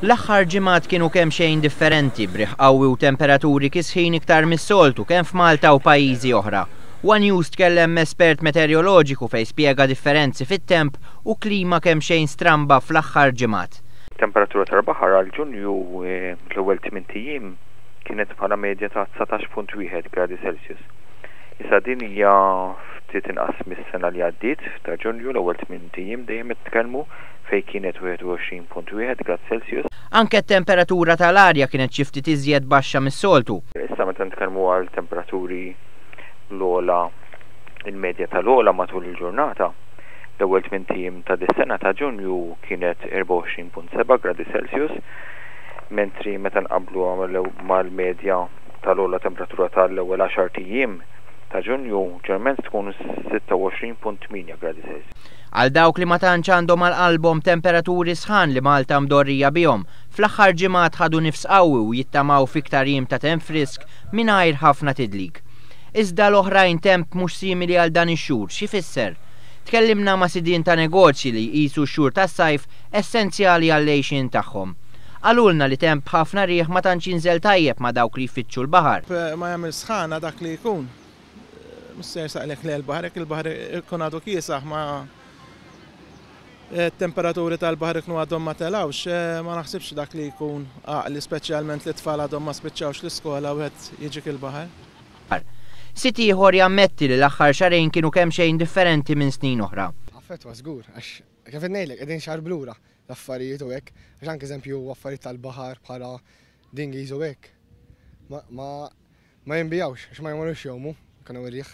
L-aħħar ġimgħat kienu kemxejn differenti b'riħ qawwi u temperaturi kisħin iktar mis-soltu kemm f'Malta u pajjiżi oħra. One News tkellem espert meteoroloġiku fejn spjega differenzi fit-temp u klima kemxejn stramba fl-aħħar ġimgħat. Temperatura tal-baħar għal Ġunju l-ewwel 8 ijiem kienet bħala medja ta' 19.1 gradi Celsius. Issa din hija ftit inqas mis-sena li għaddiet ta' Ġunju l-ewwel 8 ijiem dejjem nitkellmu fejn kienet 21.1 grad Celsius. Anke t-temperatura tal-arja kienet xi ftit iżjed baxxa mis-soltu. Issa meta nitkellmu għal temperaturi l-ogħla, il-medja tal-ogħla matul il-ġurnata, l-ewwel 8 ijiem ta' dis-sena ta' Ġunju kienet 24.7 gradi Celsius, mentri meta nqabblu mal-medja tal-ogħla temperatura tal-ewwel 10 ijiem ta' Ġunju ġeneralment tkun 26.8 gradi Celsius. Għal dawk li ma tantx għandhom għal qalbhom temperaturi sħan li Malta mdorrija bihom, fl-aħħar ġimgħat ħadu nifs qawwi u jittamaw fiktar jiem ta' temp frisk mingħajr ħafna tidlik. Iżda l-oħrajn temp mhux simili għal dan ix-xhur, x'ifisser? Tkellimna ma' sidien ta' negozji li jqisu x-xhur tas-sajf essenzjali għall-għejxien tagħhom. Qalulna li temp ħafna riħ ma tantx jinżel tajjeb ma' dawk li jfittxu l-baħar. Ma jagħmel sħana dak li jkun. Mhux se jersaqlek lejn il-baħar, jekk il-baħar ikun għadu kiesaħ ma temperaturi tal-baħar ikunu għadhom ma telawx, ma naħsibx dak li jkun għaqli, speċjalment li tfal għadhom ma spiċċawx l-iskola wieħed jiġik il-baħar. Sid ieħor jammetti li l-aħħar xahrejn kienu kemxejn differenti minn snin oħra. Affettwa żgur, għax kif ngħidlek qegħdin xahar blura l-affarijiet u hekk, għax anke eżempju affarijiet tal-baħar bħala dinghies u hekk. Ma ma jinbijawx, għax ma jmorrux jgħumu, kienu ir-riħ.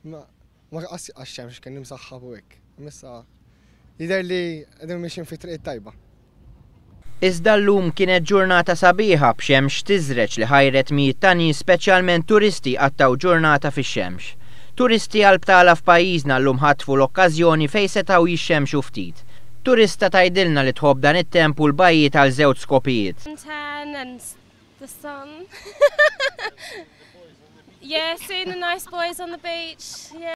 Ma qas għax-xemx kien imsaħħab u hekk. Issa jidher li qegħdin mixjin fi triq tajba. Iżda llum kienet ġurnata sabiħa b'xemx tiżreġ li ħajret mijiet ta' nies, speċjalment turisti, qattgħu ġurnata fix-xemx. Turisti għal btala f'pajjiżna llum ħatfu l-okkażjoni fejn setgħu jixxemxu ftit. Turista tgħidilna li tħobb dan it-temp u l-bajjiet għal żewġ skopijiet. Tan and the sun. Yeah, seeing the nice boys on the beach. Yeah.